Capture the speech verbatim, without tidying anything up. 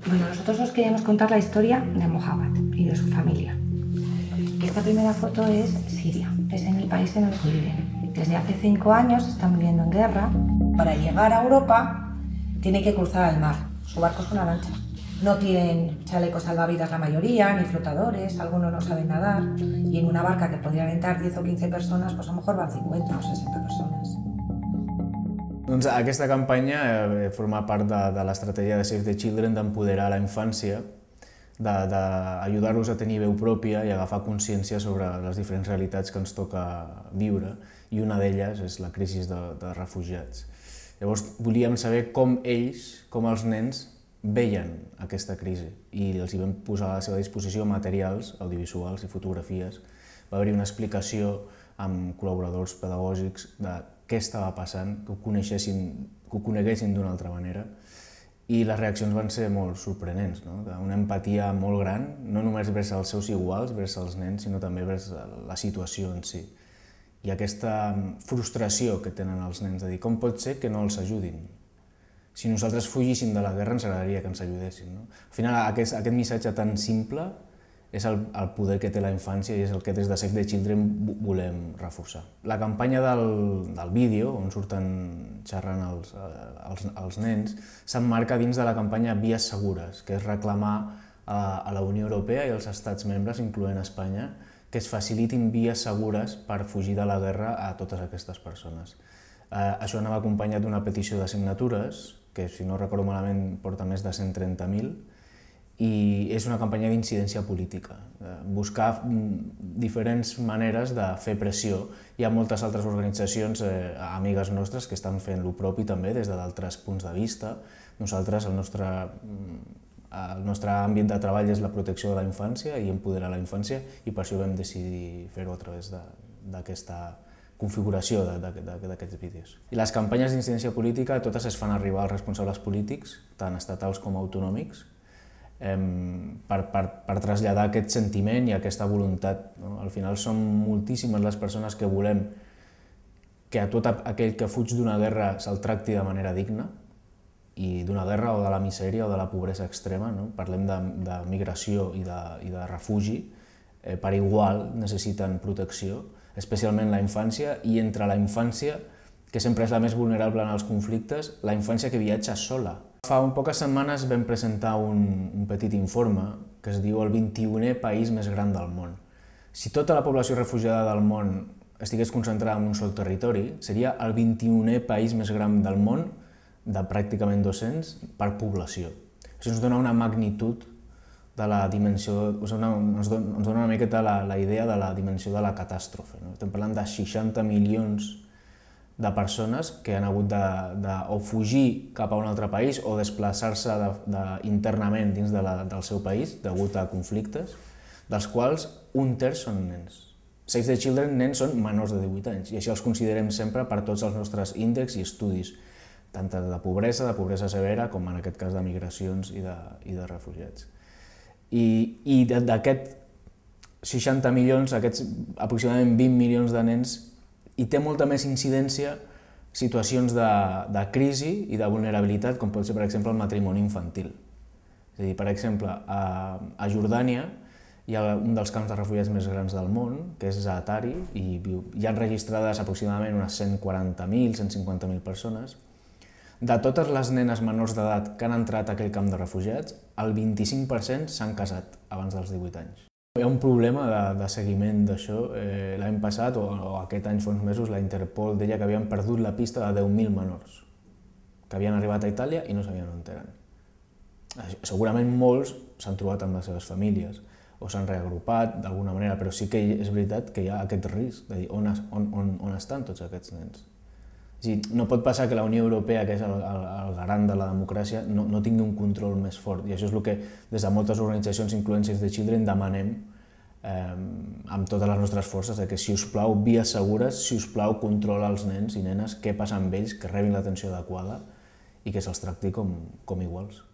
Bueno, nosotros os queríamos contar la historia de Mohammad y de su familia. Esta primera foto es Siria, es en el país en el que viven. Desde hace cinco años están viviendo en guerra. Para llegar a Europa tienen que cruzar el mar. Su barco es una lancha. No tienen chalecos salvavidas la mayoría, ni flotadores, algunos no saben nadar. Y en una barca que podrían entrar diez o quince personas, pues a lo mejor van cincuenta o sesenta persones. Doncs aquesta campanya eh, forma part de, de l'estratègia de Save the Children d'empoderar la infància, d'ajudar-los a tenir veu pròpia i agafar consciència sobre les diferents realitats que ens toca viure, i una d'elles és la crisi de, de refugiats. Llavors volíem saber com ells, com els nens, veien aquesta crisi i els hi vam posar a la seva disposició materials audiovisuals i fotografies. Va haver-hi una explicació amb col·laboradors pedagògics de què estava passant, que ho coneixessin, que ho coneguessin d'una altra manera, i les reaccions van ser molt sorprenents, no? Una empatia molt gran, no només vers els seus iguals, vers els nens, sinó també vers la situació en si. I aquesta frustració que tenen els nens de dir com pot ser que no els ajudin. Si nosaltres fugíssim de la guerra ens agradaria que ens ajudessin. No? Al final aquest, aquest missatge tan simple és el, el poder que té la infància i és el que des de Save the Children volem reforçar. La campanya del, del vídeo, on surten xerrant els, els, els nens, s'emmarca dins de la campanya Vies Segures, que és reclamar a, a la Unió Europea i als estats membres, incloent Espanya, que es facilitin vies segures per fugir de la guerra a totes aquestes persones. Eh, això anava acompanyat d'una petició de signatures, que si no recordo malament porta més de cent trenta mil, i és una campanya d'incidència política, buscar diferents maneres de fer pressió. Hi ha moltes altres organitzacions eh, amigues nostres que estan fent el propi també des d'altres punts de vista. Nosaltres, el nostre, el nostre àmbit de treball és la protecció de la infància i empoderar la infància, i per això vam decidir fer-ho a través d'aquesta configuració d'aquests vídeos. I les campanyes d'incidència política totes es fan arribar als responsables polítics, tant estatals com autonòmics, Per, per, per traslladar aquest sentiment i aquesta voluntat. No? Al final són moltíssimes les persones que volem que a tot aquell que fuig d'una guerra se'l tracti de manera digna, i d'una guerra o de la misèria o de la pobresa extrema, no? Parlem de, de migració i de, i de refugi, eh, per igual necessiten protecció, especialment la infància, i entre la infància, que sempre és la més vulnerable en els conflictes, la infància que viatja sola. Fa poques setmanes vam presentar un, un petit informe que es diu el vint-i-unè país més gran del món. Si tota la població refugiada del món estigués concentrada en un sol territori, seria el vint-i-unè país més gran del món, de pràcticament dos-cents, per població. Això ens dona una magnitud de la dimensió, ens dona, ens dona una miqueta la, la idea de la dimensió de la catàstrofe. No? Estem parlant de seixanta milions de persones que han hagut de, de o fugir cap a un altre país o desplaçar-se de, de, internament dins de la, del seu país degut a conflictes, dels quals un terç són nens. Save the Children, nens són menors de divuit anys, i això els considerem sempre per tots els nostres índexs i estudis, tant de pobresa, de pobresa severa, com en aquest cas de migracions i de, i de refugiats. I, i d'aquests seixanta milions, aquests aproximadament vint milions de nens, i té molta més incidència situacions de, de crisi i de vulnerabilitat, com pot ser, per exemple, el matrimoni infantil. És a dir, per exemple, a, a Jordània hi ha un dels camps de refugiats més grans del món, que és Zaatari, i hi ha registrades aproximadament unes cent quaranta mil, cent cinquanta mil persones. De totes les nenes menors d'edat que han entrat a aquell camp de refugiats, el vint-i-cinc per cent s'han casat abans dels divuit anys. Hi ha un problema de, de seguiment d'això. Eh, L'any passat, o, o aquest any fa uns mesos, la Interpol deia que havien perdut la pista de deu mil menors que havien arribat a Itàlia i no sabien on eren. Segurament molts s'han trobat amb les seves famílies o s'han reagrupat d'alguna manera, però sí que és veritat que hi ha aquest risc de dir on, on, on, on estan tots aquests nens. No pot passar que la Unió Europea, que és el, el, el garant de la democràcia, no, no tingui un control més fort. I això és el que des de moltes organitzacions, incloent Save the Children, demanem eh, amb totes les nostres forces, que si us plau, vies segures, si us plau, controla els nens i nenes, què passa amb ells, que rebin l'atenció adequada i que se'ls tracti com, com iguals.